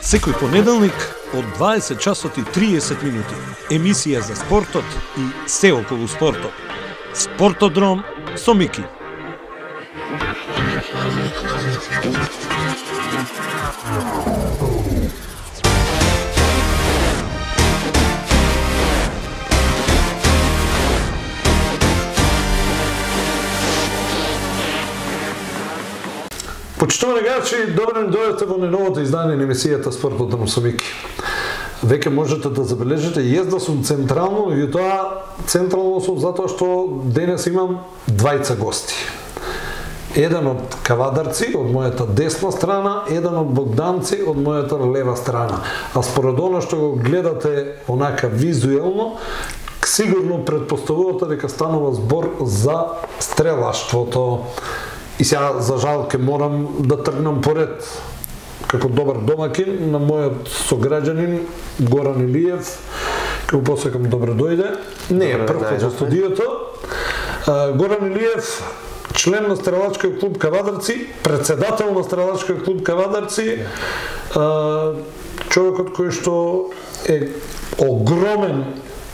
Секој понеделник од 20 часот и 30 минути. Емисија за спортот и се околу спортот. Спортодром со Мики. Почитувани гледачи, добро ни дојдете во најновото издание на емисијата Спортодром со Мики. Веќе можете да забележите, језда сум централно, и тоа централно сум затоа што денес имам двајца гости. Еден од Кавадарци, од мојата десна страна, еден од Богданци, од мојата лева страна. А според оно што го гледате онака визуелно, сигурно предпоставувате дека станува збор за стрелаштвото. И сега, за жал, ке морам да тргнам поред, како добар домакин, на мојот сограѓанин Горан Илиев, ке го посекам добро дојде. Не е прв во студиото. Горан Илиев, член на стрелачкиот клуб Кавадарци, председател на стрелачкиот клуб Кавадарци, човекот кој што е огромен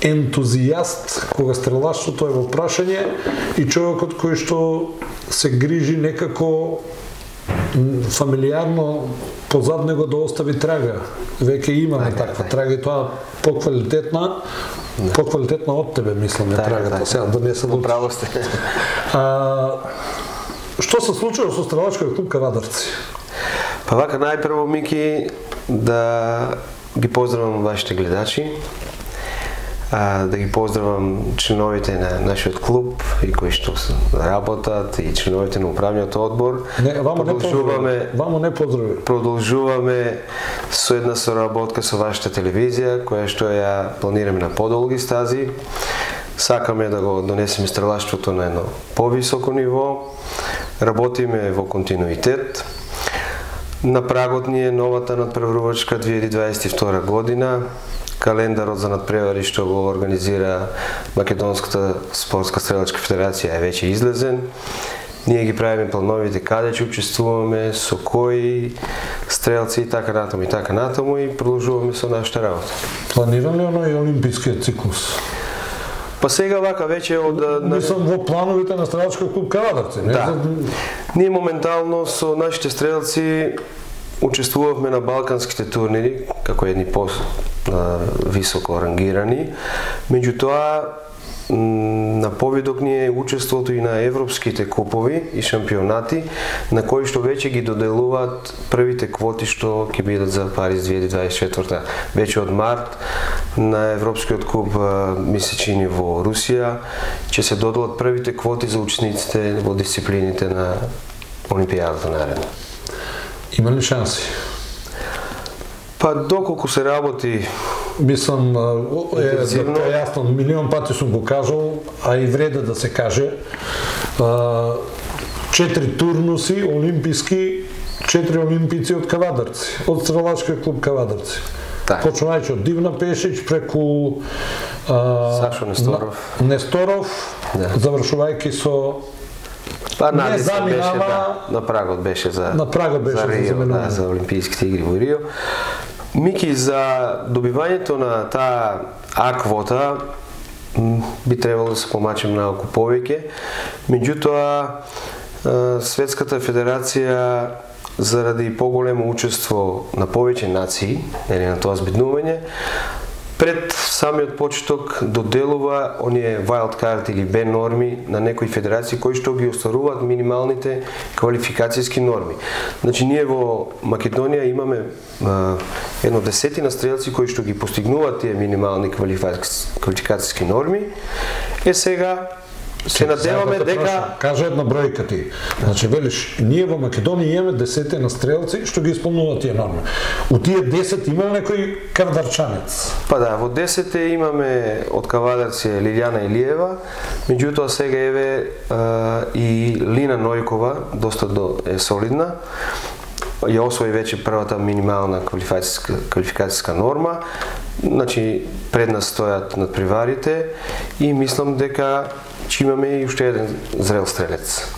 ентузијаст кога стрелаштвото е во прашање и човекот кој што се грижи некако фамилиарно позад него да остави трага. Веќе имаме таква трага и тоа поквалитетна од тебе, мислам, е трагата. Сега да не се право сте. Што се случува со стрелачкиот клуб Кавадарци? Па вака, најпрво, Мики, да ги поздравам вашите гледачи, да ги поздравам членовите на нашиот клуб и кои што работат, и членовите на управниот одбор. Вамо не поздрави. Продолжуваме со една соработка со вашата телевизија, која што ја планираме на подолги стази. Сакаме да го донесеме стрелаштвото на едно повисоко ниво. Работиме во континуитет. На прагот ни е новата надпреварувачка 2022 година. Календарот за надпревари што го организира Македонската спортска стрелачка федерација е веќе излезен. Ние ги правиме плановите каде ќе учествуваме, со кои стрелци и така натаму и продолжуваме со нашата работа. Планиран ли оној олимпискиот циклус? Па сега вака веќе од... Мислам во плановите на стрелачкиот клуб Кавадарци. Да. Ние моментално со нашите стрелци учествувавме на балканските турнири, како едни високо рангирани. Меѓутоа, на повидок ни е учеството и на европските купови и шампионати, на кои што веќе ги доделуваат првите квоти што ќе бидат за Париз 2024. Веќе од март на Европскиот куп месечини во Русија ќе се доделат првите квоти за учесниците во дисциплините на Олимпијадата наредно. Има ли шанси? Па доколку се работи, мислам, јасно, милион пати сум го кажал, а и вреде да се каже. 4 турнуси олимписки, 4 олимпици од Кавадарци, од стрелачкиот клуб Кавадарци. Почнувајќи од Дивна Пешич преку Сашо Несторов, завршувајќи со на прагот беше за Рио, за Олимпијските игри во Рио. Мики, за добивањето на таа А-квота би требало да се помачи малку повеќе. Меѓутоа, Светската федерација заради поголемо учество на повеќе нации, на тоа збиднување, пред самиот почеток доделува оние wild card или Б норми на некои федерации кои што ги остваруваат минималните квалификацијски норми. Значи, ние во Македонија имаме едно десетина стрелци кои што ги постигнуваат тие минимални квалификацијски норми. Сега се надеваме дека... Кажа една бројка ти. Значи, велиш, ние во Македонија имаме десетина стрелци што ги исполнуваат тие норми. У тие 10 има некој кавадарчанец? Па да, во 10 имаме од Кавадарци Лилјана Илиева, меѓутоа сега еве и Лина Нојкова, доста е солидна. Ја освои веќе првата минимална квалификацијска норма. Значи, пред нас стојат надпреварите и мислам дека че имаме и уште еден зрел стрелец.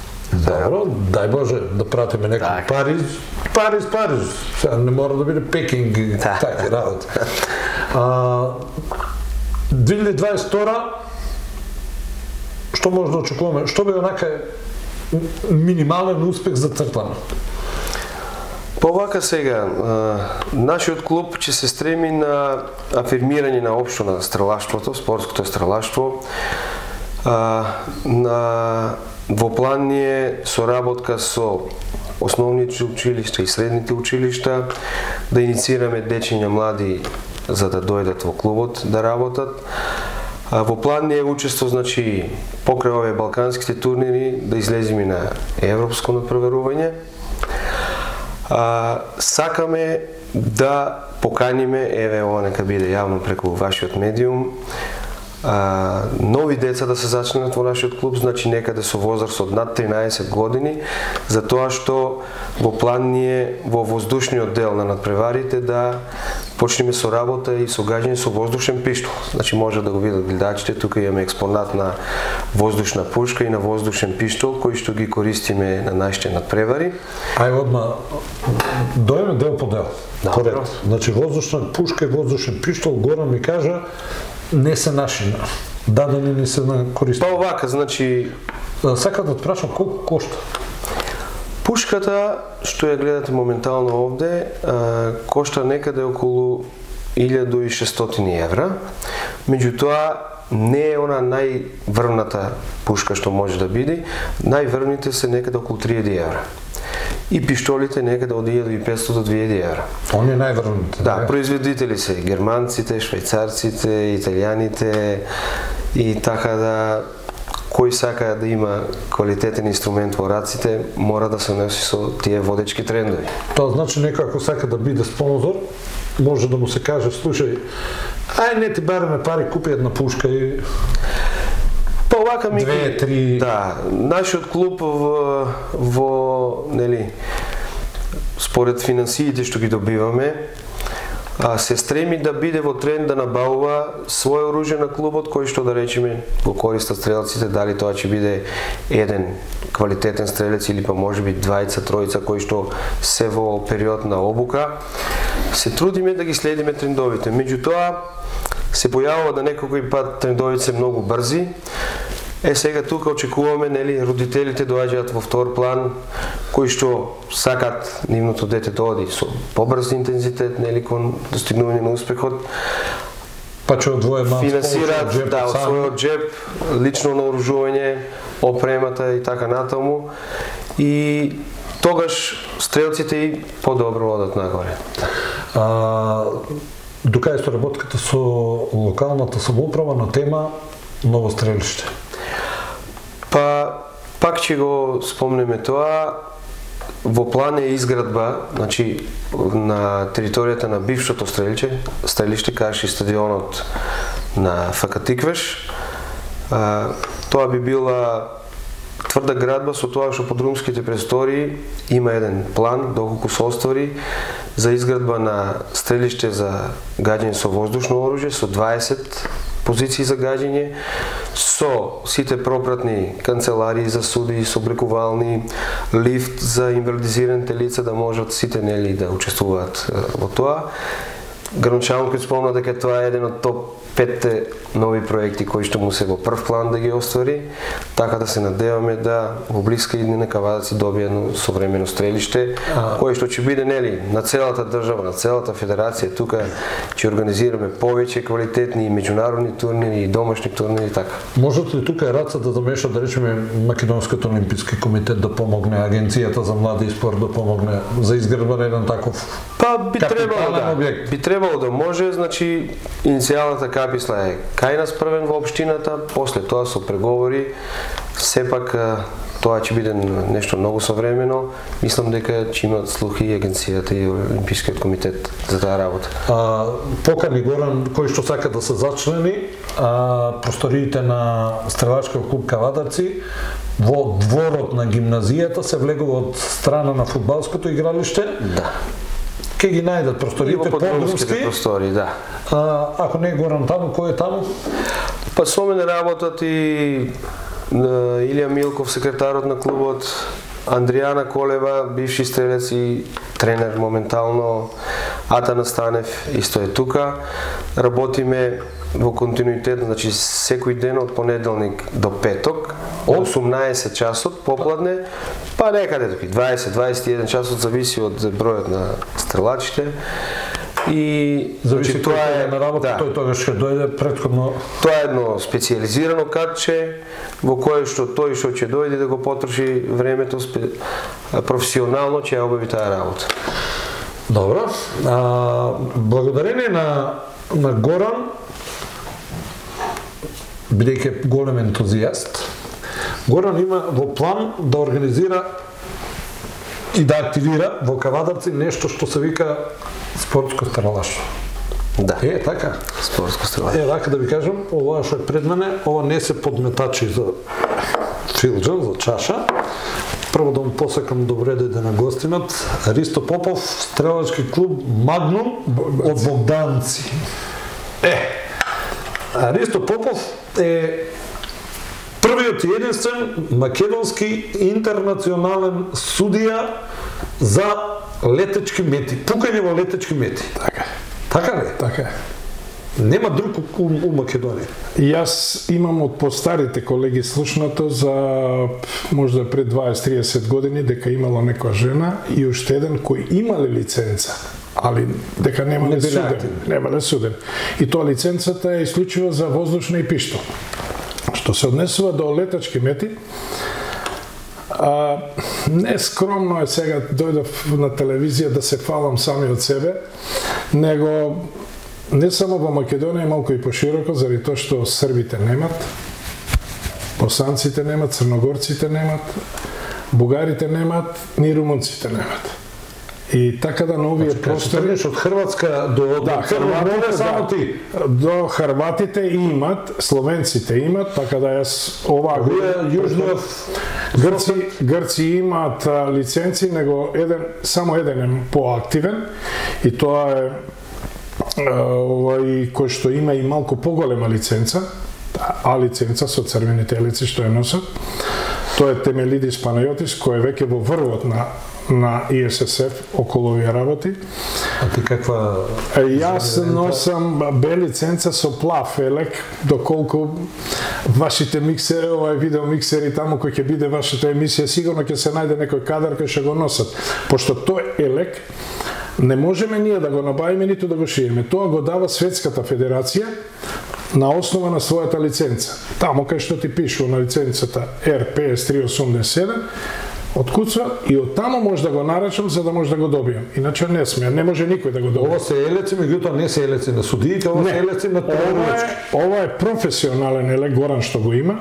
Добро, дај Боже да пратиме некој Париз. Сега не мора да биде Пекинг и таки работи. 2022 што може да очекуваме? Што би онака минимален успех за Цртана? Повака сега, нашиот клуб ќе се стреми на афирмирање на општо на стрелаштвото, спортското стрелаштво. Во план ни е соработка со основните училишта и средните училишта, да инициираме дечиња млади за да дојдат во клубот да работат. Во план ни е учество, значи, покрај овие балканските турнири да излеземе на европско надпреварување. Сакаме да поканиме, еве ова нека биде јавно преку вашиот медиум, нови деца да се зачнат во нашиот клуб, значи некаде со возраст од над 13 години, затоа што во план ни е во воздушниот дел на надпреварите да почнеме со работа и со гаѓање со воздушен пиштол. Значи може да го видат гледачите, тука имаме експонат на воздушна пушка и на воздушен пиштол кои што ги користиме на нашите надпревари. Ај одма дојме дел по дел. Корект. Значи воздушна пушка и воздушен пиштол, Горан ми кажа, не се наши, дадени не се на користи. Па овака, значи... Сакам да те прашам колку кошта? Пушката, што ја гледате моментално овде, кошта некаде околу 1600 евра. Меѓутоа, не е она најврвната пушка што може да биде. Најврвните се некаде околу 3000 евра. И пиштолите некаде од 1500 до 2000 евра. Они најврвните? Да, производители се германците, швајцарците, италијаните и така да кој сака да има квалитетен инструмент во раците, мора да се носи со тие водечки трендови. Тоа значи некој ако сака да биде спонзор, може да му се каже, слушај, ај не ти бараме пари, купи една пушка и... Па овака ми... 2-3... Да, нашиот клуб нели, според финансиите што ги добиваме, се стреми да биде во тренд да набавува своје оружје на клубот, кој што да речеме го користат стрелците, дали тоа ќе биде еден квалитетен стрелец или па можеби двајца, тројца кои што се во период на обука. Се трудиме да ги следиме трендовите. Меѓутоа се појавува да некој пат трендовите се многу брзи. Сега тука очекуваме, нели, родителите доаѓаат во втор план, кои што сакат нивното дете да оди со побрз интензитет, нели, кон достигнување на успехот. Па ќе одвоje малку финансираат, да, од својот джеб, лично наоружување, опремата и така натаму. И тогаш стрелците и подобро одат нагоре. Дука е соработката со локалната самоуправа на тема ново стрелиште? Па, пак ќе го спомнеме тоа, во план е изградба, значи, на територијата на бившото стрелиште, кај стадионот на ФК Тиквеш. Тоа би била тврда градба со тоа што под румските престории има еден план, доколку се оствари, за изградба на стрелиште за гаѓање со воздушно оружје, со 20 позиции за гаѓање, со сите пропратни канцеларии за суди, со облекувални, лифт за инвалидизираните лица да можат сите, нели, да учествуваат во тоа. Гранчанокот спомна дека тоа е еден од топ 5 нови проекти кои што му се во прв план да ги оствари, така да се надеваме да во блиска иднина Кавадаци добие едно современо стрелиште, кое што ќе биде, нели, на целата држава, на целата федерација. Тука ќе организираме повеќе квалитетни и меѓународни турнири и домашни турнири, така. Можете ли тука раца да замеша, да речеме, Македонскиот олимписки комитет да помогне, Агенцијата за млади и спорт да помогне за изградба на еден таков објект? Би требало да може, значи иницијалната каписла е кај нас првен во општината, после тоа со преговори, сепак тоа ќе биде нешто многу современо. Мислам дека ќе имат слух и Агенцијата и Олимпискиот комитет за таа работа. Покани Горан, кој што сака да се зачлени, просториите на стрелачкиот клуб Кавадарци во дворот на гимназијата се влегува од страна на фудбалското игралиште. Да. Ке ги најдат просториите по-друмски простори, да. Ако не е Горан таму, кој е таму? Па со мене работат и Илија Милков, секретарот на клубот, Андријана Колева, бивши стрелец и тренер моментално, Атана Станев исто е тука. Работиме во континуитет, значи секој ден од понеделник до петок, 18 часот попладне, па некаде 20-21 часот, зависи од бројот на стрелачите. И зависи тоа е на работа, тој тогаш ќе дојде претходно. Тоа е едно специјализирано картче во кое што тој што ќе дојде да го потроши времето професионално ќе ја обави таа работа. Добро. Благодарение на Горан, бидејќи голем ентузијаст, Горан има во план да организира и да активира во Кавадарци нешто што се вика спортско стрелаштво. Да. Така. Спортско стрелаштво. Така да ви кажам, ова што е пред мене, ова не се подметачи за филџан, за чаша. Прво да му посакам добре дојде на гостинот. Ристо Попов, стрелачки клуб Магнум од Богданци. Ристо Попов е првиот и единствен македонски интернационален судија за летечки мети, пукање во летечки мети. Така ли? Така. Нема друг у Македонија. Јас имам од постарите колеги слушнато за можда пред 20-30 години дека имала некоја жена и уште еден кој имале лиценца, али дека немале суден. И тоа лиценцата е исклучиво за воздушна и пиштол. Што се однесува до летачки мети, не скромно е сега дојдов на телевизија да се фалам сами од себе, него не само во Македонија, малку и пошироко, заради тоа што србите немат, босанците немат, црногорците немат, бугарите немат, ни румунците немат. И така да на овие простори од Хрватска до Хрватите само ти. До хрватите имат, словенците имат, така да јас ова Грци имаат лиценци, него само еден е поактивен и тоа е овој кој што има и малку поголема лиценца, лиценца со црвените елици што ја носат. Тоа е Темелидис Панајотис, кој е веќе во врвот на ИССФ околу овие работи. А ти каква? Јас носам Б лиценца со плав елек, доколку вашите миксери, овај видео миксери таму кој ќе биде вашата емисија, сигурно ќе се најде некој кадар кој ќе го носат. Пошто тој елек не можеме ние да го набавиме ниту да го шиеме. Тоа го дава Светската федерација на основа на својата лиценца. Таму кај што ти пишува на лиценцата RPS 387, откуцва и од таму може да го нарачам за да може да го добијам. Иначе не сме, не може никој да го добие. Ова се елеци, меѓутоа не се елеци на судиите, ова се елеци на тренерачки. Ова е професионален елек, Горан што го има.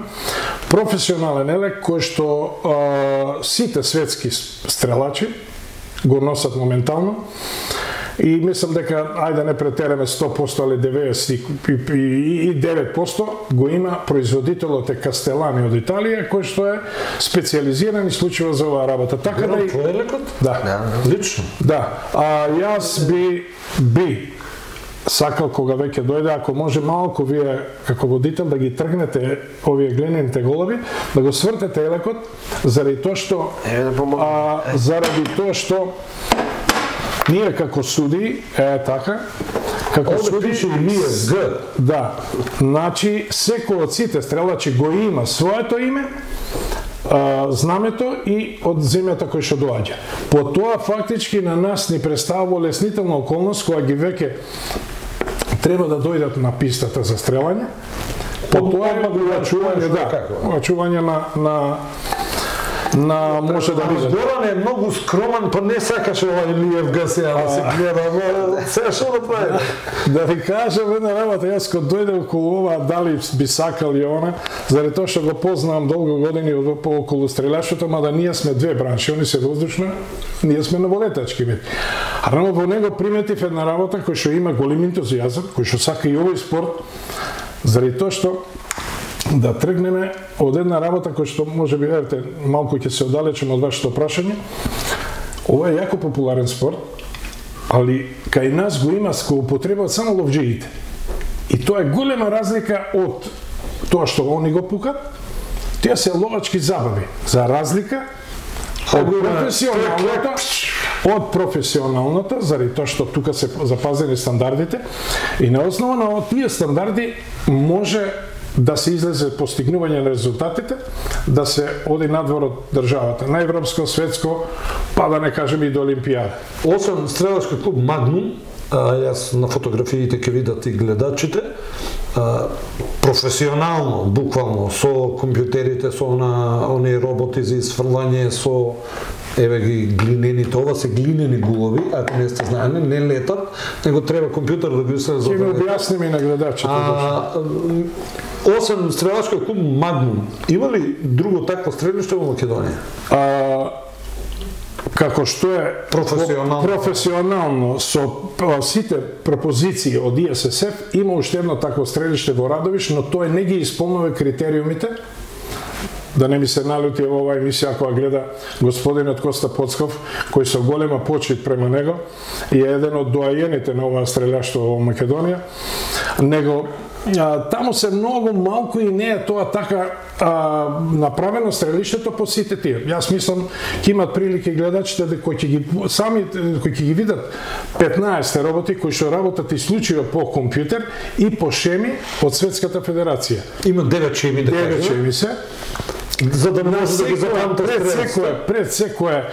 Професионален елек кој што сите светски стрелачи го носат моментално. И мислам дека, ајде не претераме 100%, али 99% го има производителот е Кастелани од Италија, кој што е специјализиран исклучиво за оваа работа. Така да и твој елекот? Да. Лично? Да. Јас би сакал кога веќе дојде, ако може малку вие како водител да ги тргнете овие глинените голови, да го свртете елекот, заради тоа што ние како суди, така, како суди пише и ние Г. Да. Значи секој од сите стрелачи го има своето име, знамето и од земјата кој што доаѓа. По тоа фактички на нас ни представува леснителна околност која ги веќе треба да дојдат на пистата за стрелање. По тоа има очување на може да видите. Горан е многу скромен, па не сакаше ова Илиев Гасија да се гледа, сега што да прави? Да ви кажам една работа, јас кога дојде околу ова, дали би сакал и она, заради тоа што го познавам долго години околу стрелјаштвото, мада ние сме две бранши, они се воздушна, ние сме на волетачки мети. А рано во него приметив една работа кој што има голем ентузијазам, кој што сака и овој спорт, заради тоа што да тргнеме од една работа која што може би, верите, малку ќе се оддалечиме од вашето прашање. Ова е јако популарен спорт, али кај нас го има го употребаат само ловџиите. И тоа е голема разлика од тоа што они го пукат, Тие се ловачки забави, за разлика од професионалната, заради тоа што тука се запазени стандардите, и на основа на тие стандарди може да се излезе постигнување на резултатите, да се оди надвор од државата, на европско, светско, па да не кажеме и до Олимпијада. Освен стрелачки клуб Магнум, јас на фотографиите ќе видат и гледачите, професионално, буквално, со компјутерите, со оние роботи за изфрлање, со еве ги глинените, ова се глинени гулови, ако не сте знаени, не летат, него треба компјутер да ги се Ќе ми објасниме и на гледачите. Освен стрелачки клуб Магнум, има ли друго такво стрелиште во Македонија? Како што е професионално со сите пропозиции од ИССФ, има уште едно такво стрелиште во Радовиш, но тој не ги исполнува критериумите. Да не ми се налути во оваа емисија кога гледа господинот Коста Поцков, кој со голема почит према него и е еден од доајените на оваа стрелjaštvo во Македонија. Него таму се многу малку и не е тоа така направено стрелиштето по сите тие. Јас мислам ќе имат прилика гледачите кои ќе ги видат 15 роботи кои што работат исклучиво по компјутер и по шеми од Светската федерација. Има 9 шеми, да кажем. 9 шеми се. За да може да ги запамтат пред секоја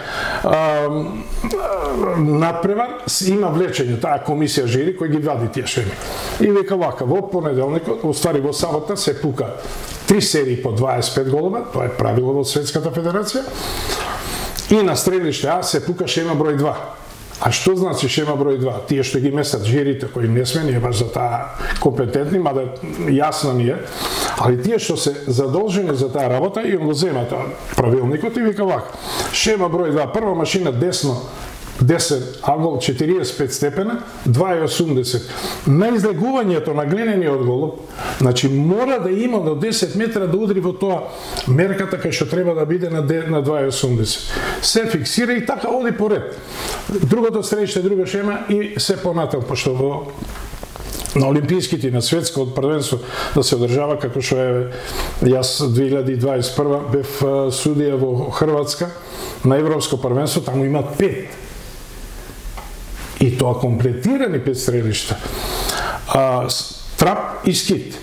надпревар има влечење, таа комисија жири кој ги вади тие шеми. И вика вака, во понеделникот, уствари во сабота се пука 3 серии по 25 голова, тоа е правило во Светската федерација, и на стрелиште А се пука шема број 2. А што значи шема број 2? Тие што ги месат жирите, кои не сме ние баш за таа компетентни, мада јасно ни е, али тие што се задолжени за таа работа и го зема тоа правилникот и вика вака. Шема број 2, прва машина десно, 10 агол 45 степена, 2,80. На излегувањето на глинениот голуб, значи мора да има до 10 метра да удри во тоа мерката кај што треба да биде на 2,80. Се фиксира и така оди поред. Другото стрелиште, друга шема и се понатаму, пошто во на олимписките и на светско првенство да се одржава, како што е јас 2021 бев судија во Хрватска на европско првенство, таму има 5. И тоа комплетирани 5 стрелишта. Трап и скит.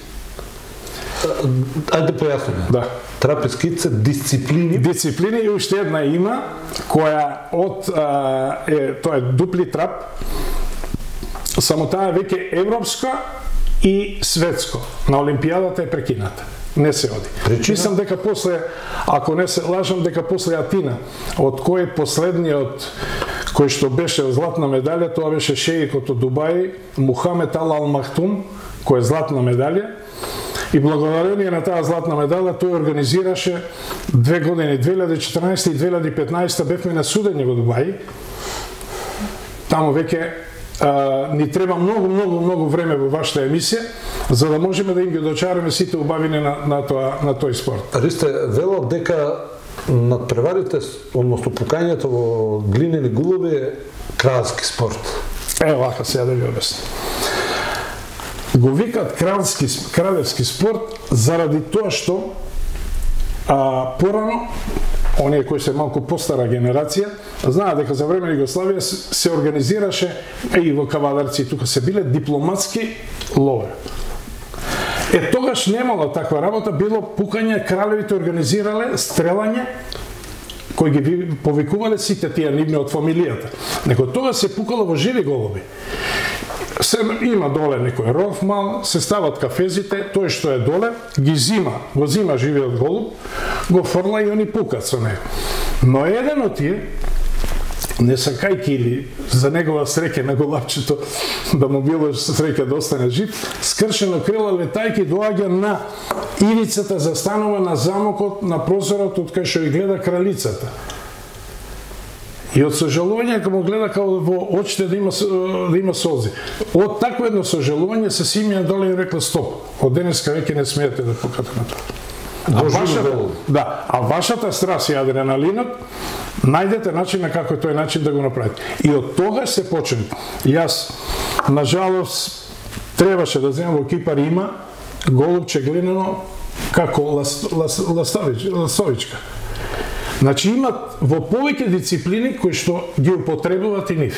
Ајде појасниме. Да. Трап и скит се дисциплини. Дисциплини и уште една има која тоа е дупли трап. Само таа веќе европска и светско. На Олимпијадата е прекината. Не се оди. Мислам дека после, ако не се лажам, дека после Атина, од кој последниот кој што беше златна медалја, тоа беше шеикот од Дубај, Мухамед Ал Махтум, кој е златна медалја. И благодарение на таа златна медалја тој организираше 2 години, 2014 и 2015 бевме на судење во Дубај. Таму веќе ни треба многу време во вашата емисија за да можеме да им ги дочараме сите убавини на тој спорт. Ристе, вело дека надпреварите, односно пукањето во глинени гулови е кралски спорт. Вака сега да ви обяснам. Го викат кралевски спорт заради тоа што порано оние кои се малку постара генерација знаат дека за време на Југославија се организираше и во кавадарци тука се биле дипломатски лове. Тогаш немало таква работа, било пукање, кралевите организирале стрелање кои ги повикувале сите тие нивни од фамилијата. Него тоа се пукало во живи голуби. Има доле некој ров мал, се стават кафезите, тој што е доле, го зима живиот голуб, го фрла и они пукат со него. Но еден од тие, не сакајки или за негова среќа на голапчето, да му било среќа да остане жив, скршено крило летајки доаѓа на ивицата застанува на замокот, на прозорот од кај што ја гледа кралицата. И од сожалување кога му гледа како во очите да има солзи. Од такво едно сожалување се симија доле и рекла стоп. Од денеска веќе не смеете да покате на тоа. А вашата страст и адреналинот најдете начин на како тој начин да го направите. И од тогаш се почне. Јас на жалост требаше да земам во Кипар има голубче глинено како ластовичка. Значи имат во повеќе дисциплини кои што ги употребуваат и нив.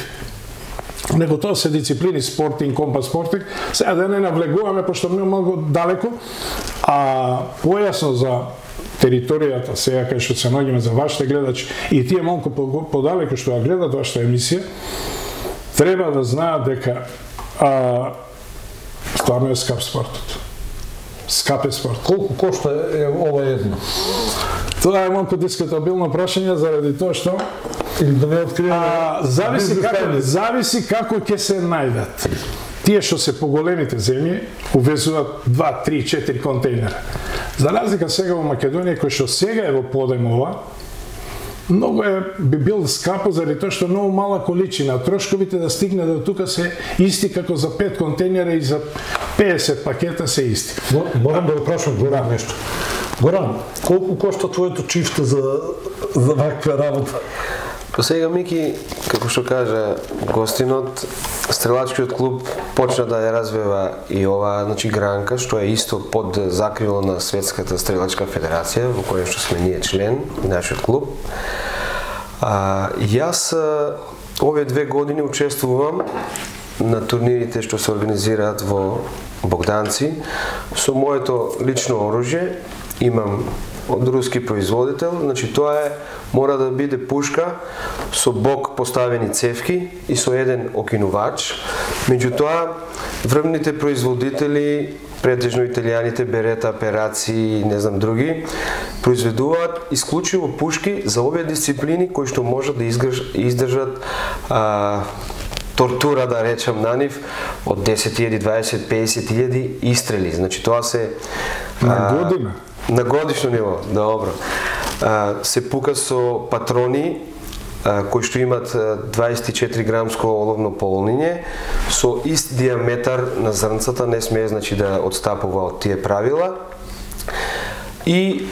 Него тоа се дисциплини спортинг, компас спортинг, сега да не навлегуваме, пошто ми многу далеко, а појасно за територијата, сега кај што се наоѓаме за вашите гледачи и тие малку подалеку што ја гледат вашата емисија, треба да знаат дека стварно е скап спортот. Скап е спорт. Колку кошта е ова едно? Тоа е малку дискутабилно прашање заради тоа што или да не откриеме. Зависи како ќе се најдат. Тие што се поголемите земји увезуваат 2, 3, 4 контейнера. За разлика сега во Македонија кој што сега е во подем ова, многу би бил скапо заради тоа што многу мала количина, трошковите да стигне до тука се исти како за 5 контейнера и за 50 пакета се исти. Морам да го прашам Горан нешто. Горан, колку кошта твоето чифте за ваква работа? По сега, Мики, како што кажа гостинот, стрелачкиот клуб почна да ја развива и ова, значи, гранка, што е исто под закрило на Светската стрелачка федерација, во која што сме ние член, нашиот клуб. Јас овие 2 години учествувам на турнирите што се организираат во Богданци со моето лично оружје. Имам од руски производител, значи тоа е, мора да биде пушка со бок поставени цевки и со еден окинувач. Меѓутоа, врвните производители, претежно италијаните, Берета, Пераци и не знам други, произведуваат исклучиво пушки за овие дисциплини кои што можат да издржат тортура, да речам, на нив од 10.000, 20, 50.000 истрели. Значи тоа се на година. На годишно ниво, добро. Се пука со патрони кои што имат 24 грамско оловно полнење, со ист диаметар на зрнцата, не смее, значи, да одстапува од тие правила. И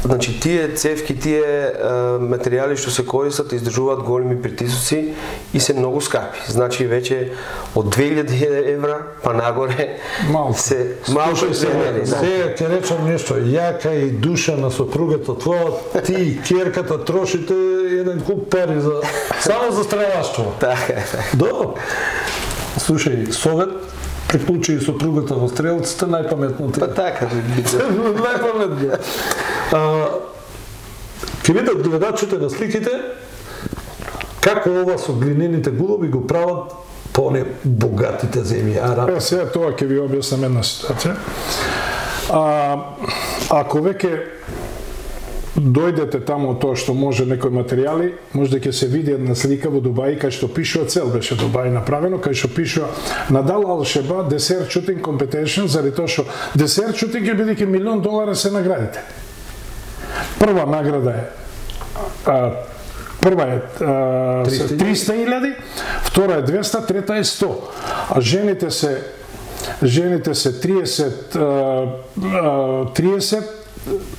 значи тие цевки, тие материјали што се користат издржуваат големи притисоци и се многу скапи. Значи веќе од 2000 евра па нагоре се малку ценени. Сега ќе речам нешто, ја кај душа на сопругата твоја, ти и ќерката трошите еден куп пари за само за стрелаштво. Така е. Добро. Слушај, совет, приклучи и сопругата во стрелците, најпаметно ти. Па така, најпаметно. Ке видат гледачите на сликите како ова со глинените гулоби го прават по не богатите земји. Сега тоа ќе ви објаснам една ситуација. Ако веќе дојдете таму тоа што може некои материјали, може да ќе се види една слика во Дубај кај што пишува, цел беше Дубај направено, кај што пишува Надал Алшеба Desert Shooting Competition, заради тоа што Desert Shooting ќе бидејќи $1 милион се наградите. Прва награда е 300.000, втора е 200, трета е 100. А жените се 30,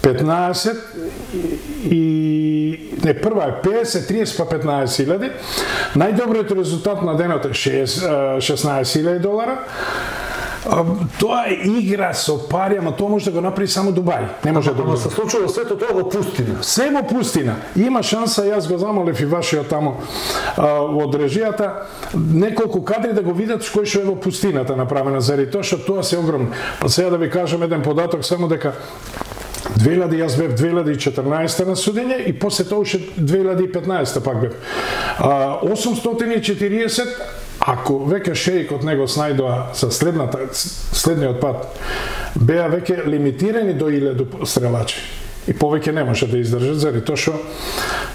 15 и не, прва е 50, 30 па 15.000. Најдобриот резултат на денот е $16.000. Тоа е игра со пари, ама тоа може да го направи само Дубај. Не може да го. Се случува сето тоа во пустина. Се во пустина. Има шанса, јас го замолев и вашиот тамо од режијата, неколку кадри да го видат кој што е во пустината направена, заради тоа што тоа се огромно. Па сега да ви кажам еден податок, само дека јас бев 2014 на судење и после тоа уште 2015 пак бев. 840, ако веќе шеикот него снајдоа за следниот пат, беа веќе лимитирани до 1000 стрелачи. И повеќе не може да издржат, заради тоа што,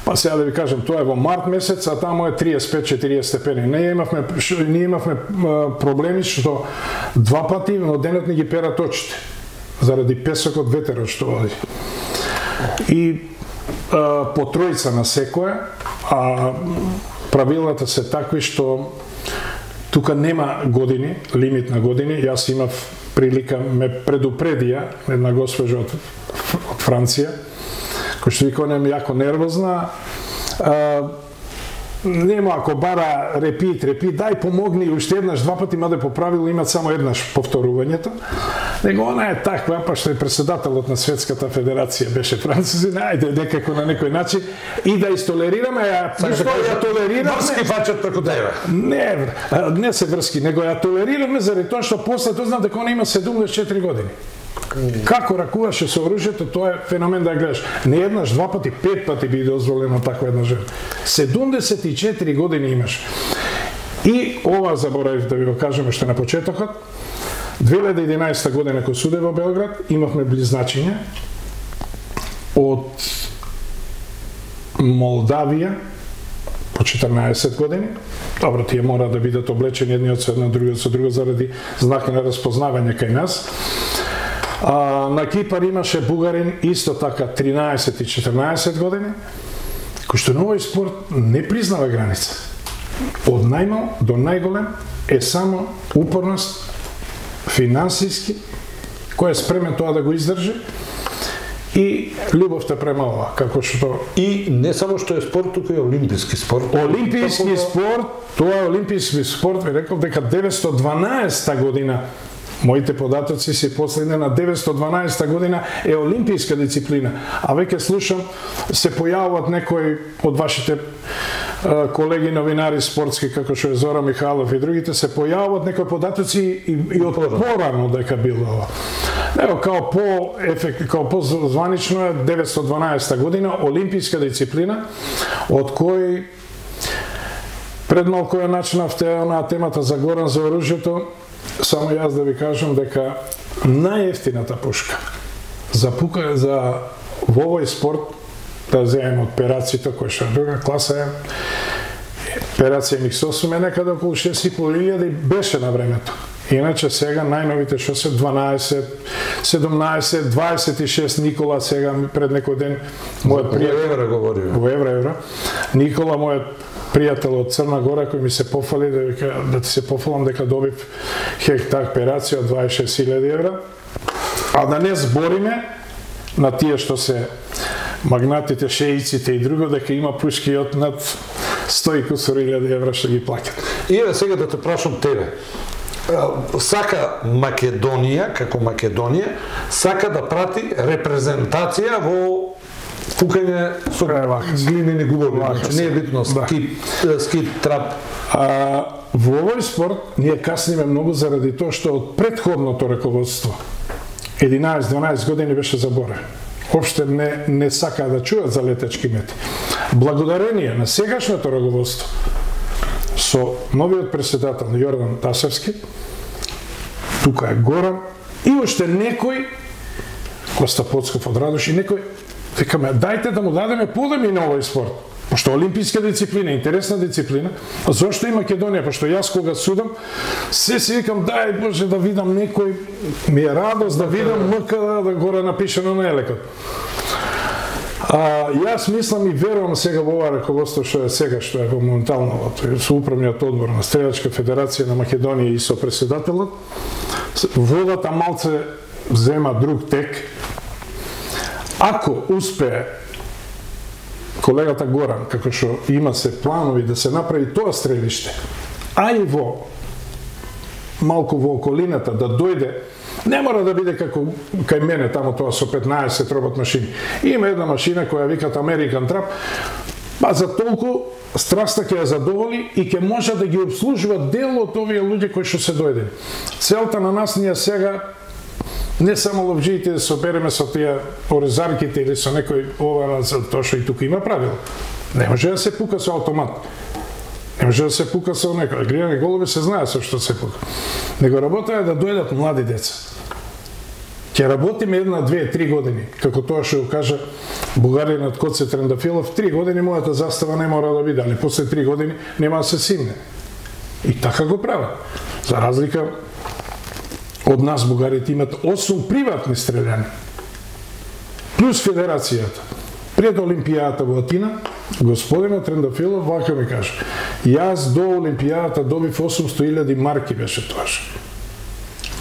па сега да ви кажам, тоа е во март месец, а тамо е 35-40 степени. Ние имавме проблеми што 2 пати во денот ни ги перат очите, заради песокот, ветерот што води. И по тројца на секоја, правилата се такви што тука нема години, лимит на години. Јас имав прилика, ме предупредија една госпожа од Франција, кој што вика, не е јако нервозна. нема ако бара репит, дај помогни уште еднаш, два пати, маде по правило имат само еднаш повторувањето. Него она е таква, па што е председателот на Светската федерација беше французин, ајде некако на некој начин и да истолерираме, ја толерираме. Врски фачат преку тебе. Не се врски, него ја толерираме заради тоа што после тоа знам дека она има 74 години. Како ракуваше со оружјето, тоа е феномен да ја гледаш. Не еднаш, два пати, 5 пати би дозволено таква една жена. 74 години имаш. И ова заборавив да ви го кажеме што на почетокот. 2011 година кога суде во Белград имавме близначиња од Молдавија по 14 години. Добро, тие мора да бидат облечени едниот со едно, другиот со друго заради знаки на распознавање кај нас. На Кипар имаше бугарин исто така 13 и 14 години, кој што на овој спорт не признава граница. Од најмал до најголем е само упорност, финансиски, кој е спремен тоа да го издржи, и љубовта према ова, како што... И не само што е спорт, туку е олимписки спорт. Олимписки спорт, тоа е олимписки спорт, ви рекол дека 912 година, моите податоци се последне на 912 година е олимписка дисциплина. А веќе слушам, се појавуваат некои од вашите колеги новинари спортски, како што е Зора Михайлов и другите, се појавуваат некои податоци и од порано дека било ова. Ево, као по-званично е 912 година, олимписка дисциплина, од кој пред малку ја начнавте на темата за Горан за оружјето. Само јас да ви кажам дека најефтината пушка за во овој спорт, да земем од пераците, кој што е друга класа е, перација MX8 е некаде околу 6.500 и беше на времето. Иначе сега најновите што се 12, 17, 26 Никола сега пред некој ден мојот пријател во евро. Никола, мојот пријател од Црна Гора, кој ми се пофали да ти се пофалам дека добив хектар перација од 26.000 евра. А да не збориме на тие што се магнатите, шеиците и друго, дека има пушки од над 100.000 евра што ги плаќат. И сега да те прашам тебе. Сака Македонија, како Македонија, сака да прати репрезентација во фукање со глинени губови, значи не е битно скит, трап. Во овој спорт ние касниме многу заради тоа што од претходното раководство 11-12 години беше заборен. Опште не сакаа да чуат за летачки мети. Благодарение на сегашното раководство со новиот председател Јордан Тасевски, тука е Горан, и уште некој, Коста Поцков од Радош, и некој, викаме, дајте да му дадеме подеми на овој спорт. Пошто олимписка дисциплина, интересна дисциплина, зошто и Македонија, пошто јас кога судам, се си викам, дај Боже да видам некој, ми е радост да видам МК да горе напишено на елекот. Јас мислам и верувам сега во ова раководство што е сега, што е во моментално со управниот одбор на Стрелачка федерација на Македонија и со председателот, водата малце зема друг тек. Ако успее колегата Горан, како што има се планови да се направи тоа стрелиште, а и во малку во околината да дојде, не мора да биде како кај мене тамо тоа со 15 робот машини. Има една машина која викат American Trap, па за толку страста ќе ја задоволи и ќе може да ги обслужува дел од овие луѓе кои што се дојдени. Целта на нас ние сега не само ловџиите да се обереме со тие орезарките или со некој ова, тоа што и тука има правило. Не може да се пука со автомат. Не може да се пука со некој. Гријани голуби се знае со што се пука. Него работа е да дојдат млади деца. Ќе работиме 1, 2, 3 години. Како тоа што кажа бугаринот Коце Трендафилов, 3 години мојата застава не мора да биде, али после 3 години нема да се симне. И така го прават. За разлика од нас бугарите имат 8 приватни стрељани. Плюс федерацијата. Пред Олимпијата во Атина, господинот Трендафилов вака ми кажа: јас до Олимпијата добив 800.000 марки беше тоаш.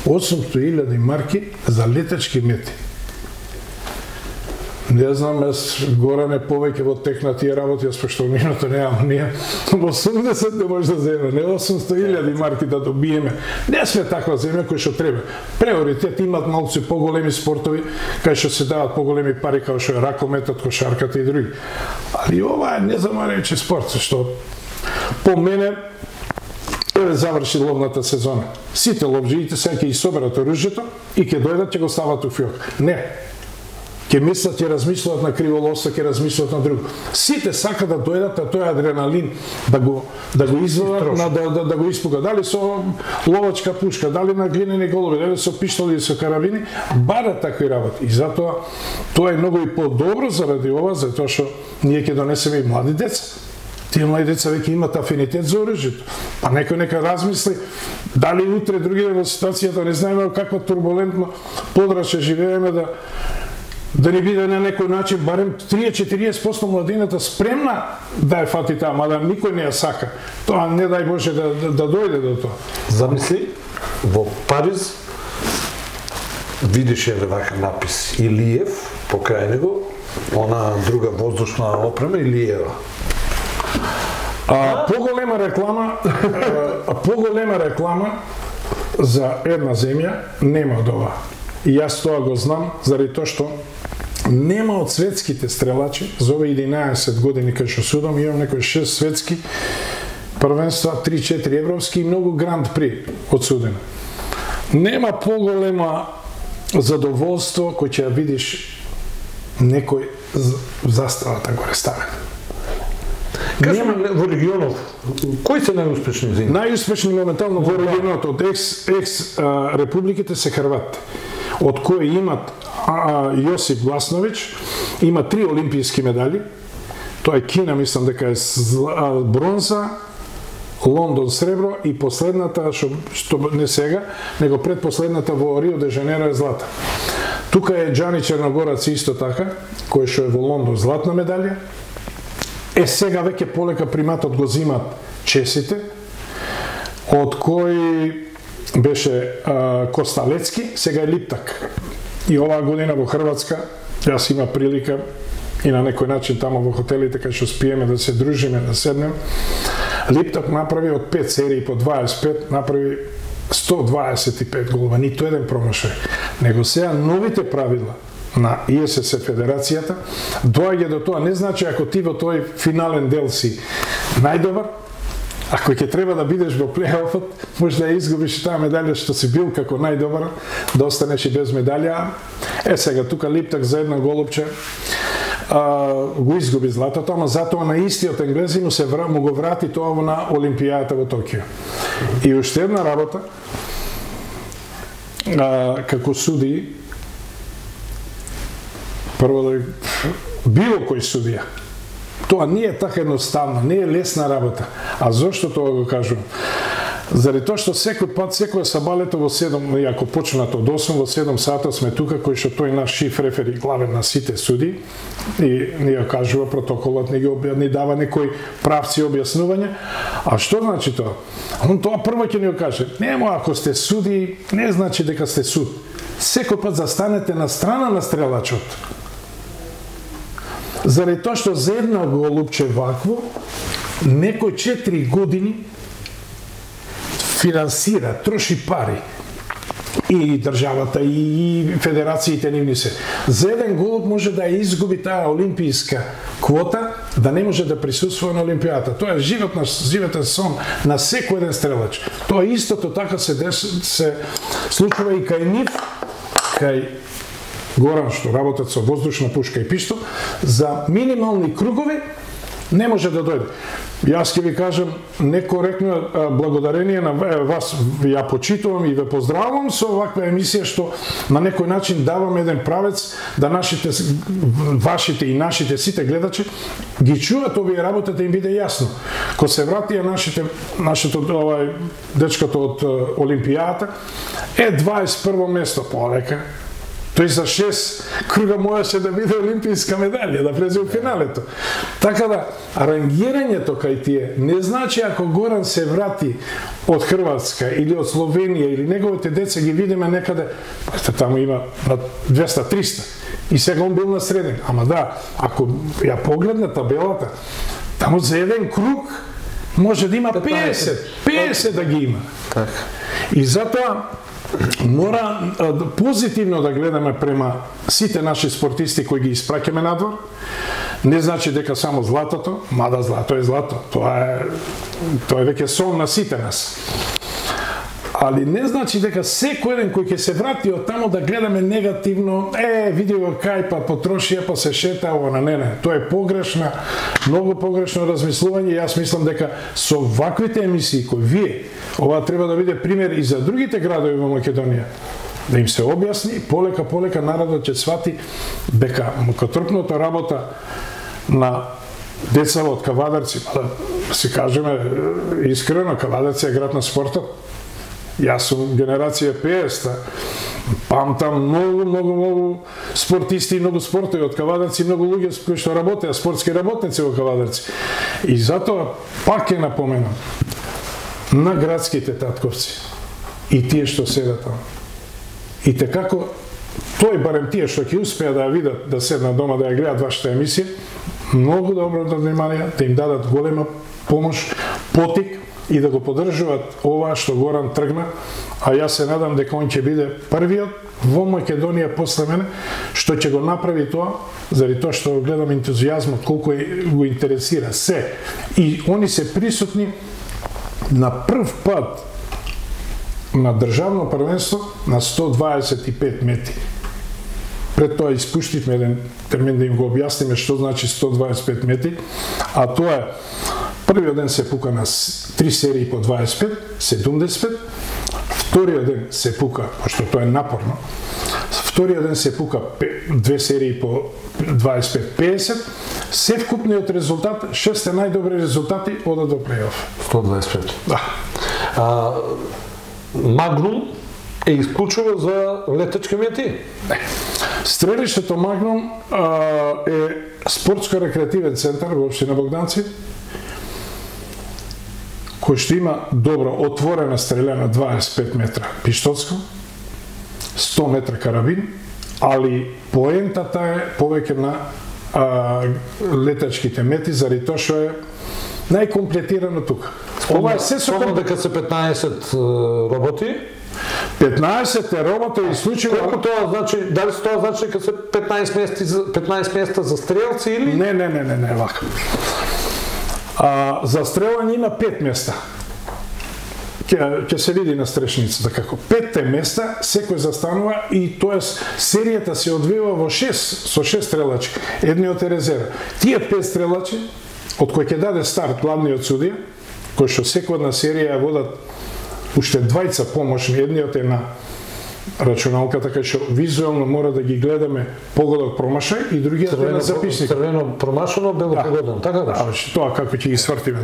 800.000 марки за летачки мети. Не знам, Горане повеќе во тек на тие работи, пошто минуто немам ние. 80 не може да земе, не 800.000 марки да добиеме. Не сме таква земја која што треба. Приоритет имат малку поголеми спортови, кај што се дават поголеми пари, како што е ракометот, кошарката и други. Али ова е незамаречи спорт, што по мене еве заврши ловната сезона. Сите ловджиите сега ќе соберат оружјето и ќе дојдат ќе го стават у фиок. Не. Ќе мислат, ќе размислуват на криволовство, ќе размислуват на друго. Сите сака да дојдат, а тој адреналин да го извадат, да го испуга. Дали со ловачка пушка, дали на глинени голови, дали со пиштоли или со карабини, барат такви работи. И затоа тоа е многу и по-добро заради ова, затоа што ние ќе донесеме и млади деца. Тие млади деца веќе имат афинитет за оружјето. Па некој нека размисли дали утре другите во ситуацијата не знаеме каква турбулентно подрачје живееме да ни биде на некој начин барем 30-40% младината спремна да ја фати таа, мада никој не ја сака. Тоа не дај Боже да дојде до тоа. Замисли, во Париз видиш еве вака напис Илиев покрај него, она друга воздушна опрема Илиева. Поголема реклама за една земја нема од ова. И јас тоа го знам заради тоа што нема од светските стрелачи за овие 11 години кај што судам, имам некои 6 светски првенства, 3-4 европски и многу гранд при одсудено. Нема поголема задоволство кој ќе ја видиш некој заставата горе ставен. Кажеме во регионот, кои се најуспешни земји? Најуспешни моментално во регионот од републиките се Хрватите, од кои имат Јосип Гласновиќ, има 3 олимписки медали, тоа е Кина, мислам дека е бронза, Лондон сребро и последната, што не сега, него предпоследната во Рио де Жанеиро е злата. Тука е Џани Черногорец исто така, кој што е во Лондон златна медалја. Сега веќе полека приматот го зимат чесите, од кои беше Косталецки, сега е Липтак. И оваа година во Хрватска, јас има прилика и на некој начин тамо во хотелите кај што спиеме да се дружиме, да седнем. Липтак направи од 5 серии по 25, направи 125 голова, ниту еден промашај. Него сега новите правила на ИСС Федерацијата доаѓа до тоа, не значи ако ти во тој финален дел си најдобар, ако ќе треба да бидеш во плейофот, може да ја изгубиш таа медалја што си бил како најдобар, да останеш и без медалја. Сега тука Липтак за една голупче го изгуби златото, ама затоа на истиот енглези му го врати тоа на Олимпијата во Токио. И уште една работа, како суди, прво да било кој судија. Тоа не е така едноставно, не е лесна работа. А зошто тоа го кажувам? Заради тоа што секој пат, секоја сабалето во 7, ако почнат од 8, во 7 сата сме тука, кој што тој наш шиф рефери главен на сите суди, и ни ја кажува протоколот, ни дава некои правци објаснување. А што значи тоа? Он тоа прво ќе ни го каже. Нема, ако сте суди, не значи дека сте суд. Секој пат застанете на страна на стрелачот. Заради тоа што за една голупче вакво, некој 4 години финансира, троши пари. И државата, и федерациите нивни се. За еден голуб може да ја изгуби таа олимпијска квота, да не може да присуствува на Олимпијата. Тоа е животен сон на секој еден стрелач. Тоа истото така се случува и кај нив, кај Горан што работат со воздушна пушка и пиштол, за минимални кругови не може да дојде. Јас ќе ви кажам некоректно благодарение на вас, ја почитувам и ве поздравувам со оваква емисија што на некој начин давам еден правец да вашите и нашите сите гледачи ги чуат овие работи да им биде јасно. Ко се вратија нашето дечкото од Олимпијата е 21 место полека. Тој за 6 круга можеше да биде олимпијска медалја, да влезе во финалето. Така да, рангирањето кај тие не значи ако Горан се врати од Хрватска или од Словенија или неговите деца ги видиме некаде, таму има на 200-300. И сега он бил на среден. Ама да, ако ја погледне табелата, таму за еден круг може да има 50 да ги има. Така. И затоа мора позитивно да гледаме према сите наши спортисти кои ги испраќаме надвор. Не значи дека само златото, мада злато е злато. Тоа е веќе сон на сите нас. Али не значи дека секој еден кој ќе се врати од таму да гледаме негативно, види го кај па потрошија па се шета ова, не. Тоа е погрешна, многу погрешно размислување. Јас мислам дека со ваквите емисии кои вие, ова треба да биде пример и за другите градови во Македонија. Да им се објасни, полека народот ќе свати дека мукотрпната работа на деца од Кавадарци, да се кажеме искрено, Кавадарци е град на спортот. Јас сум генерација 50-та, памтам многу спортисти, многу спортови од Кавадарци, многу луѓе кои што работеа, спортски работници во Кавадарци. И затоа пак ќе напоменам на градските татковци и тие што седат таму. И како тој барем тие што ќе успеа да ја видат, да седнат дома да ја гледат вашата емисија, многу добро да внимание, да им дадат голема помош, потик и да го поддржуваат ова што Горан тргна, а јас се надам дека он ќе биде првиот во Македонија после мене што ќе го направи тоа, заради тоа што гледам ентузијазмот колку го интересира се. И они се присутни на прв пат на државно првенство на 125 метри. Пред тоа испуштивме еден термин да им го објасниме што значи 125 метри, а тоа е првиот ден се пука на 3 серии по 25, 75, вториот ден се пука, пошто тоа е напорно, вториот ден се пука 2 серии по 25, 50, се вкупниот резултат, 6 најдобри резултати одат до плей-оф. 125. Да. Магнум е исклучено за летачки мети? Не. Стрелиштето Магнум е спортско-рекреативен центар во општина Богданци, кој што има добро отворена стрелена 25 метра пиштоцко, 100 метра карабин, али поентата е повеќе на летачките мети, заради тоа што е најкомплетирано тука. Ова е се со дека се 15 роботи. 15 роботи и случаи. Колку тоа значи? Дали тоа значи дека се 15 места за стрелци или? Не, вака. За стрелање има 5 места. Ќе се види на стрешницата како 5 места секој застанува и тоа серијата се одвива во 6 со 6 стрелачи. Едниот е резерва. Тие 5 стрелачи од кој ќе даде старт главниот судија, кој што секојна серија ја водат уште двајца помошни, едниот е на рачуналка, така што визуелно мора да ги гледаме погодок промашај и другиот е на записник. Црвено промашено, бело погодено, така да? Тоа како ќе ги свртиме.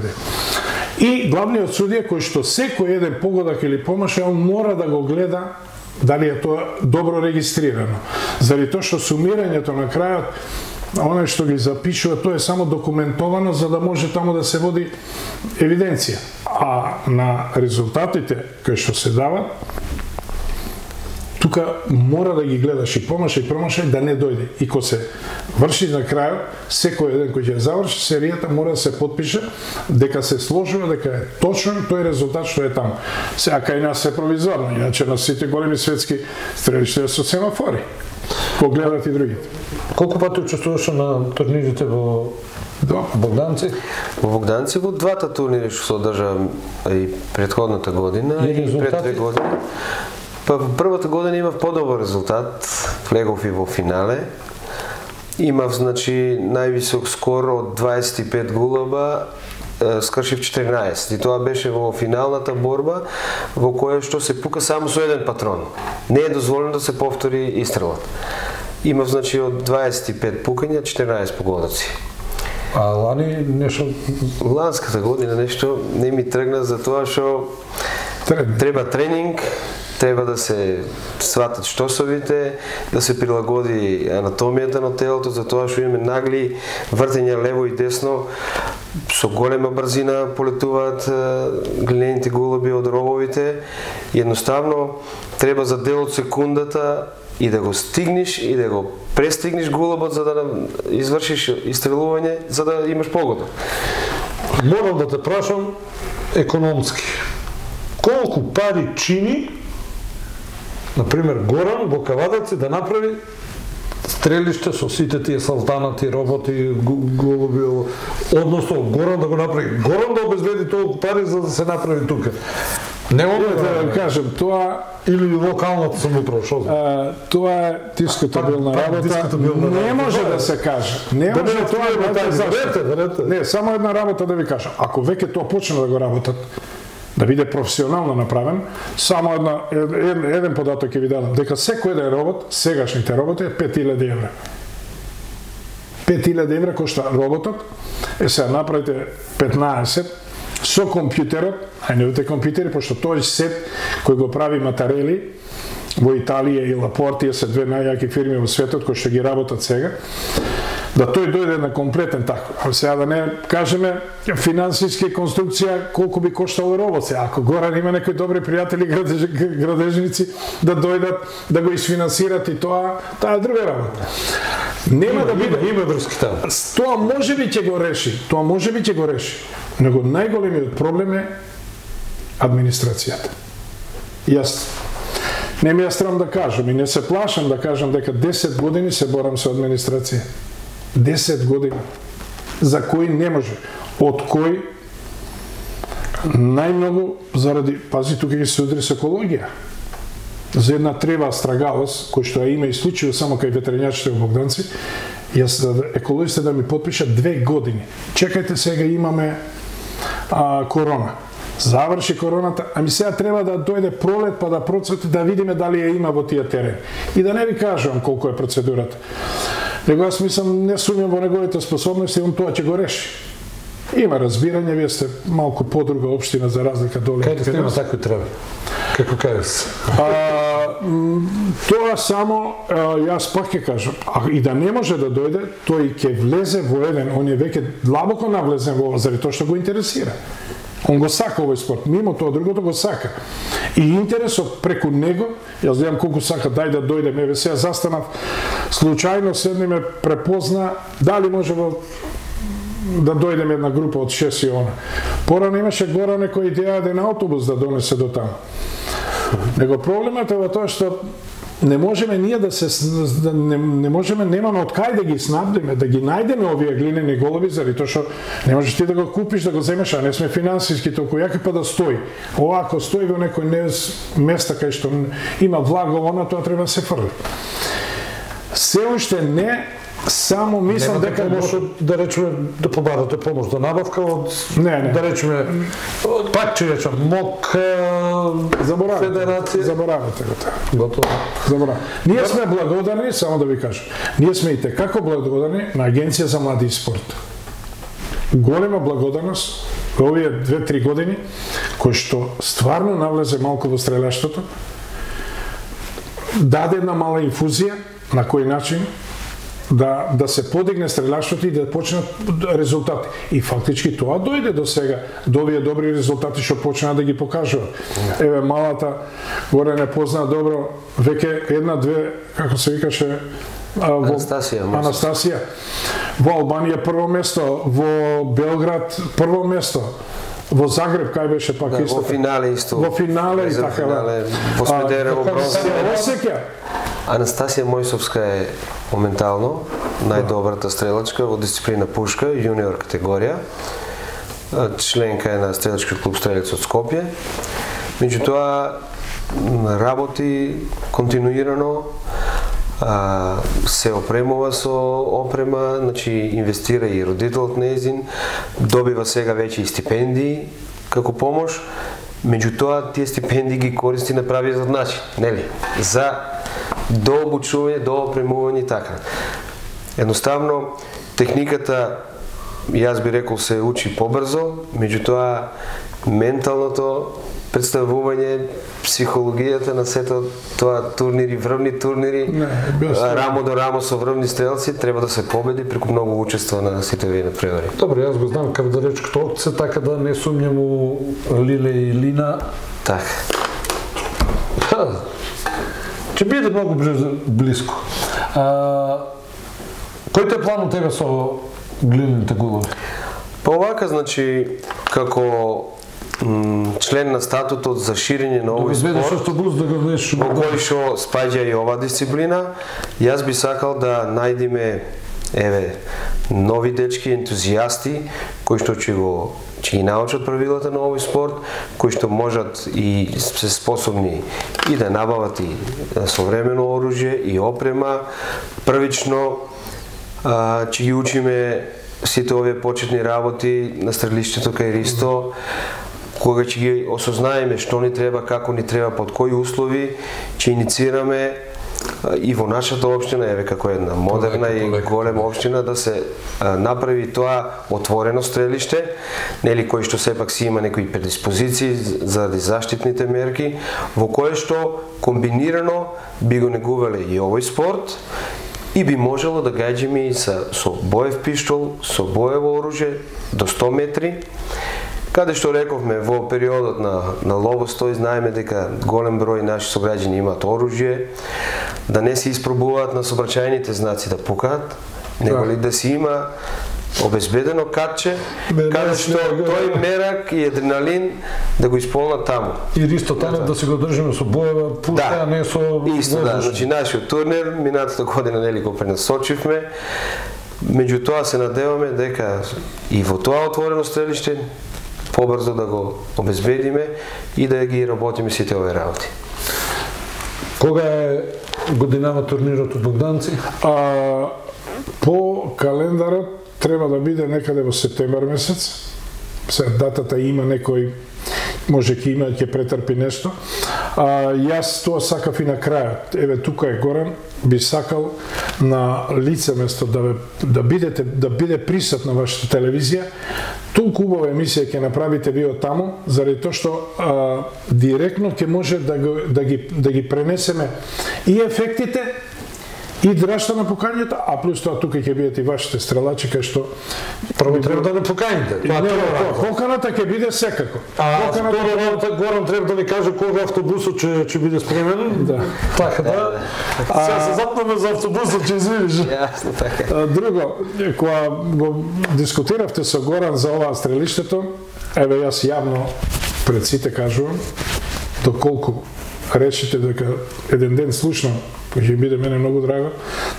И главниот судија кој што секој еден погодок или промашај, он мора да го гледа дали е тоа добро регистрирано. Заради тоа што сумирањето на крајот, оној што ги запишува, тоа е само документовано за да може таму да се води евиденција. А на резултатите кои што се дават, тука мора да ги гледаш и промашај да не дојде. И кога се врши на крајот, секој еден кој ќе заврши серијата мора да се потпише дека се сложува, дека е точен тој резултат што е таму. Сега кај нас е провизорно, иначе на сите големи светски стрелишта со семафори. Кога гледат и другите. Колку пати учествуваше на турнирите во Богданци? Во Богданци во двата турнири што се одржа и претходната година и пред 2 години. Па во првата година имав подобар резултат, влегов и во финале. Имав, значи, највисок скор од 25 гулаба, скршив 14. И тоа беше во финалната борба, во која што се пука само со еден патрон. Не е дозволено да се повтори истрелот. Имав, значи, од 25 пукања, 14 погодоци. А лани нешто? Ланската година нешто не ми тргна за тоа што треба тренинг, треба да се сватат штосовите, да се прилагоди анатомијата на телото, за тоа што имаме нагли вртења лево и десно. со голема брзина полетуваат глинените голуби од рововите. Едноставно треба за дел од секундата и да го стигнеш и да го престигнеш голубот за да извршиш истрелување, за да имаш погода. Морам да те прашам економски. Колку пари чини, например, Горан во Кавадаци да направи стрелиште со сите тие салтанати, роботи, голуби, односно Горан да го направи. Горан да обезбеди толку пари за да се направи тука. Не мога да кажем, тоа или локалната самоуправа, што знам. Тоа е дискутабилна работа. Не може да се каже. Не може тоа да рете. Не, само една работа да ви кажам. Ако веќе тоа почне да го работат, да биде професионално направен, само еден податок ќе ви дадам, дека секој еден робот, сегашните роботи е 5000 евра. 5000 евра кошта роботот, сега направите 15 со компјутерот, најновите компјутери, пошто тој сет кој го прави Матарели во Италија и Лапортија се две најјаки фирми во светот кои што ги работат сега, да тој дојде на комплетен таков. А сега да не кажеме финансиски конструкција колку би коштало робот. Ако Горан има некои добри пријатели градежници да дојдат да го isfinansират и тоа е друга работа. Нема да биде има врски таму. Тоа можеби ќе го реши. Него најголемиот проблем е администрацијата. Јас не ми е страм да кажам и не се плашам да кажам дека 10 години се борам со администрација. 10 години. За кои не може. Од кои најмногу заради, пази, тука ќе се удри со екологија. За една трева астрагалос, кој што ја има и случају само кај ветеринарчите во Богданци, јас еколозите да ми подпишат 2 години. Чекајте, сега имаме корона. Заврши короната, ами сега треба да дојде пролет па да процвети да видиме дали ја има во тие терени. И да не ви кажувам колку е процедурата. Него јас мислам, не сумњам во неговите способности, он тоа ќе го реши. Има разбирање, вие сте малку подруга општина за разлика доле. Кај нема такви треви? Како кажеш? Тоа само, јас пак ќе кажам, и да не може да дојде, тој ќе влезе во еден, он е веќе длабоко навлезен во ова, заради тоа што го интересира. Он го сака овој спорт, мимо тоа другото го сака. И интересот преку него, јас знам колку сака, дај да дојде, ме сега застанав, случајно седне ме препозна, дали може да дојдем една група од 6 и она. Порано имаше гора некоја идеја да на автобус да донесе до таму. Него проблемот е во тоа што не можеме ние не можеме, немаме од кај да ги снабдиме, да ги најдеме овие глинени голуби, заради тоа што не можеш ти да го купиш, да го земеш, а не сме финансиски толку јаки па да стои. Овако стои во некој места кај што има влага, тоа треба да се фрли. Се уште не само мислам дека може да речеме да побарате помош за набавка од да речеме пак ќе речам МОК Федерација. Заборавате го тоа. Готово. Заборавате. Ние сме благодарни, само да ви кажам. Ние сме и текако благодарни на Агенција за млади и спорт. Голема благодарност во овие 2-3 години кој што стварно навлезе малку во стрелештото, даде една мала инфузија на кој начин да се подигне стрелаштото и да почнат резултати. И фактички тоа дојде до сега, до овие добри резултати што почнаа да ги покажуваат. Еве малата горе не позна добро, веќе една-две, како се викаше, Анастасија. Во Албанија прво место, во Белград прво место. Во Загреб кај беше пак исто. Во финале исто. Во финале и така. Во Смедерево бронза. Осеќа. Анастасија Мојсовска е моментално најдобрата стрелачка во дисциплина пушка, јуниор категорија. Членка е на стрелачки клуб Стрелец од Скопје. Меѓутоа работи континуирано, се опремува со опрема, значи инвестира и родителот нејзин, добива сега веќе и стипендии како помош, меѓутоа тие стипендии ги користи на правиот начин, нели? За дообучување, доопремување и така. Едноставно, техниката, јас би рекол, се учи побрзо, меѓутоа менталното представување, психологијата на сето тоа турнири, врвни турнири, рамо до рамо со врвни стрелци, треба да се победи преку многу учество на сите овие надпревари. Добро, јас го знам Кавдаречкото опце, така да не сумњам у Лиле и Лина. Така. Ќе биде многу близко. Кој те план у тебе со глините голови? Па овака, значи, како член на статутот за ширење на овој спорт, во кој што спаѓа и ова дисциплина, јас би сакал да најдеме нови дечки ентузијасти кои што ќе ги научат правилата на овој спорт, кои што можат и се способни и да набават и современо оружје и опрема. Првично ќе ги учиме сите овие почетни работи на стрелиштето кај Ристо, кога ќе ги осознаеме што ни треба, како ни треба, под кои услови, ќе иницираме и во нашата општина, како една модерна и голема општина, да се направи тоа отворено стрелиште, нели, кој што сепак си има некои предиспозиции заради заштитните мерки, во кое што комбинирано би го негувале и овој спорт, и би можело да гаѓаме и со боев пиштол, со боево оружје до 100 метри, каде што рековме во периодот на ловостој, знаеме дека голем број наши сограѓани имаат оружје, да не се испробуваат на сообраќајните знаци да пукаат, него ли да си има обезбедено катче, каде што тој мерак и адреналин да го исполнат таму. И Ристо Танев да се го држиме со боева пушка, а не со исто, да, значи нашиот турнир минатата година нели го пренасочивме. Меѓутоа се надеваме дека и во тоа отворено стрелиште побрзо да го обезбедиме и да ги работиме сите овие работи. Кога е годинава турнирот од Богданци? По календарот треба да биде некаде во септември месец. Се датата има некој, може ќе има, ќе претрпи нешто. Јас тоа сакав и на крајот. Еве тука е Горан, би сакал на лице место да биде присутна вашата телевизија. Толку убава емисија ќе направите вие од таму, заради тоа што директно ќе може да ги пренесеме и ефектите и драшта на пукањето, а плюс тоа тука ќе бидат и вашите стрелачи кај што прво треба да не поканите. Поканата ќе биде секако. Второ, Горан треба да ни каже кога автобусот ќе биде спремен. Да. Така да. Сега се запнеме за автобусот, ќе извиниш. Јасно, така. Друго, кога го дискутиравте со Горан за ова стрелиштето, еве јас јавно пред сите кажувам, доколку решите дека еден ден слушнам, кој ќе биде мене многу драго,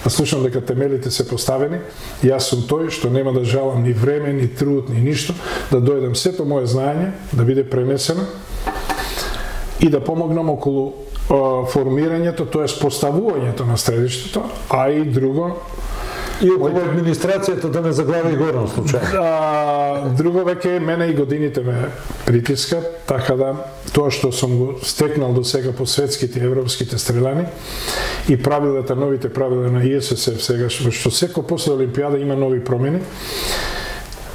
да слушам дека темелите се поставени, јас сум тој што нема да жалам ни време, ни труд, ни ништо, да дојдам сето моје знаење, да биде пренесено и да помогнам околу формирањето, тоест поставувањето на стрелиштето, а и друго, и околу администрацијата да не заглави Горан случај. Друго веќе мене и годините ме притискат, така да тоа што сум го стекнал до сега по светските и европските стрелани и правилата, новите правила на ИССФ сега, што секој после Олимпијада има нови промени,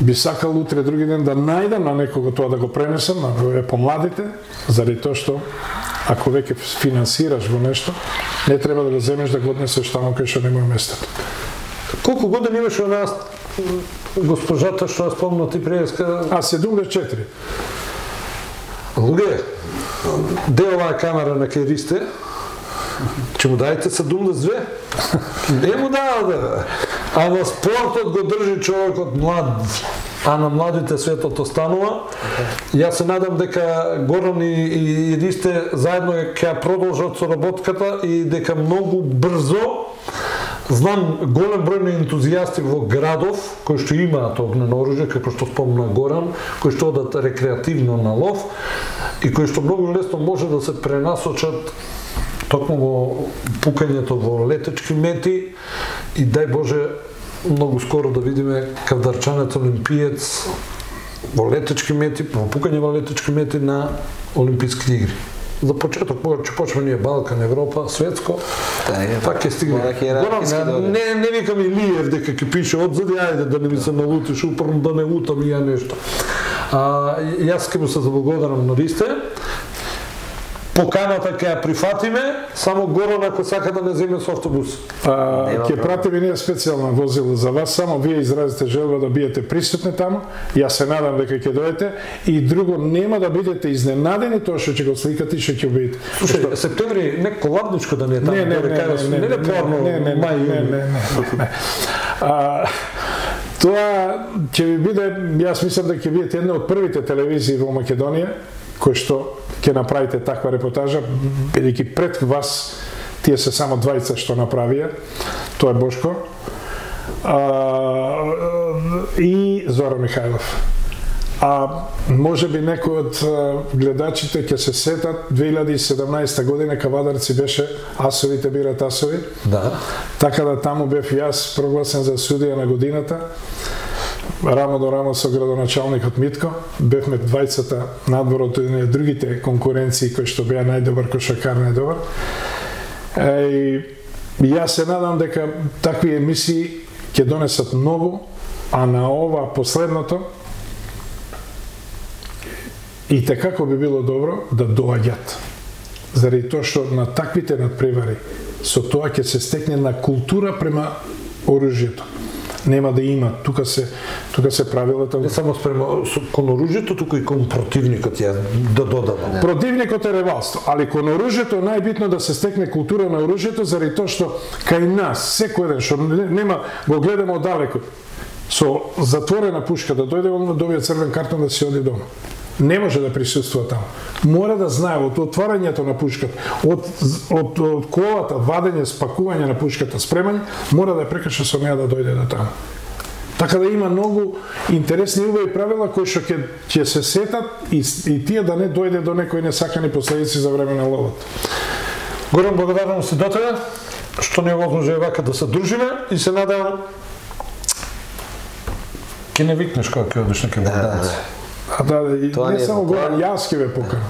би сакал утре други ден да најдам на некого тоа да го пренесам, на овие помладите, заради тоа што ако веќе финансираш во нешто, не треба да го земеш да го однесеш таму кај што нема местото. Колку години имаше нас госпожата што ја спомна ти преска? 74. Луѓе, де оваа камера на кај Ристе? Ќе му дајте 72? Не му дава да. Ама спортот го држи човекот млад, а на младите светот останува. Јас се надам дека Горан и Ристе заедно ќе продолжат со работката и дека многу брзо. Знам голем број на ентузијасти во градов кои што имаат огнено оружје, како што спомна Горан, кои што одат рекреативно на лов и кои што многу лесно може да се пренасочат токму во пукањето во летечки мети и дај Боже многу скоро да видиме кавдарчанец олимпиец во летечки мети, во пукање во летечки мети на Олимписки игри. За почеток ќе почнеме ние Балкан, Европа, светско, пак ќе стигне. Не викам Илиев дека ќе пише одзади, ајде да не ми се налутиш, упорно да не лутам и ја нешто. Јас ќе му се заблагодарам на Ристе. поканата ќе ја прифатиме, само Горан ако сака да не земе со автобус. Ќе пратиме ние специјално возило за вас, само вие изразите желба да биете присутни таму. Јас се надам дека ќе дојдете и друго нема да бидете изненадени тоа што ќе го сликате и што ќе видите. Слушај, септември некако ладничко да не е таму, тоа ќе ви биде, јас мислам да ќе бидете една од првите телевизии во Македонија кој што ќе направите таква репортажа, бидејќи пред вас тие се само двајца што направија, тоа е Бошко и Зоран Михајлов. Може би некој од гледачите ќе се сетат 2017 година Кавадарци беше Асовите бират асови. Да. Така да таму бев јас прогласен за судија на годината. Рамо до рамо со градоначалникот Митко, бевме двајцата надвор од другите конкуренции кои што беа најдобар кошакар, најдобар. И јас се надам дека такви емисии ќе донесат многу, а на ова последното и како би било добро да доаѓат. Заради тоа што на таквите надпревари со тоа ќе се стекне на култура према оружјето. Нема да има, тука се правилата. Не само спрема кон оружјето, туку и кон противникот ја да додава. Противникот е ревалство, али кон оружјето е најбитно да се стекне култура на оружјето, заради тоа што кај нас секој ден што нема го гледаме оддалеку со затворена пушка да дојде да добие црвен картон да си оди дома. Не може да присуствува таму. Мора да знае од отварањето на пушката, од колата, вадење, спакување на пушката, спремање, мора да прекрши со неа да дојде до таму. Така да има многу интересни убави правила кои што ќе се сетат и тие да не дојде до некои несакани последици за време на ловот. Горан, благодарам се до тебе, што не возможи вака да се дружиме и се надам ќе не викнеш кога ќе одиш на Кавадарци. Не само Горан, јас ќе ве покана.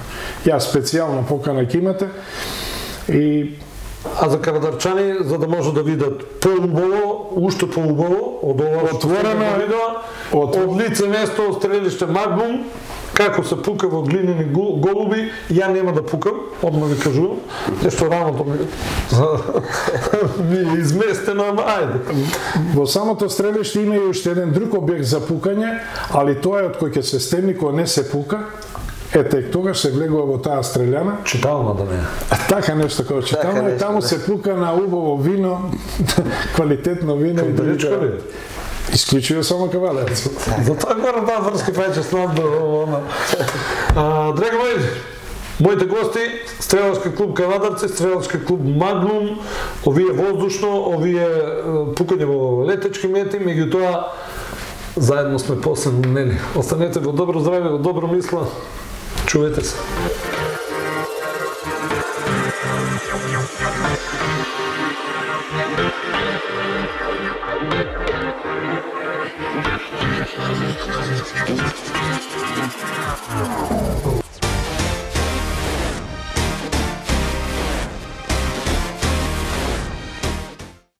Јас специјално покана ќе имате. А за кавадарчани, за да може да видат поубаво, уште поубаво, од ова отворено видео, од лице место, од стрелиште Магнум, како се пука во глинени голуби, ја нема да пукам, одма ви кажувам, нешто раното ми е изместено, ама ајде. Во самото стрелиште има и уште еден друг објект за пукање, али тоа е од кој ќе се стемни, кога не се пука, ете, тогаш се влегува во таа стрељана. Читална да не е. Така нешто како читална, и таму се пука на убаво вино, квалитетно вино. Кавадарчко ли? Исклучува само Кавадарци. Затоа Горан таа врски пајче снадба. Драги мои, моите гости, стрелачки клуб Кавадарци, стрелачки клуб Магнум, овие воздушно, овие пукање во летечки мети, меѓутоа заедно сме после нели. Останете во добро здравје, во добро мисла. Чувате се.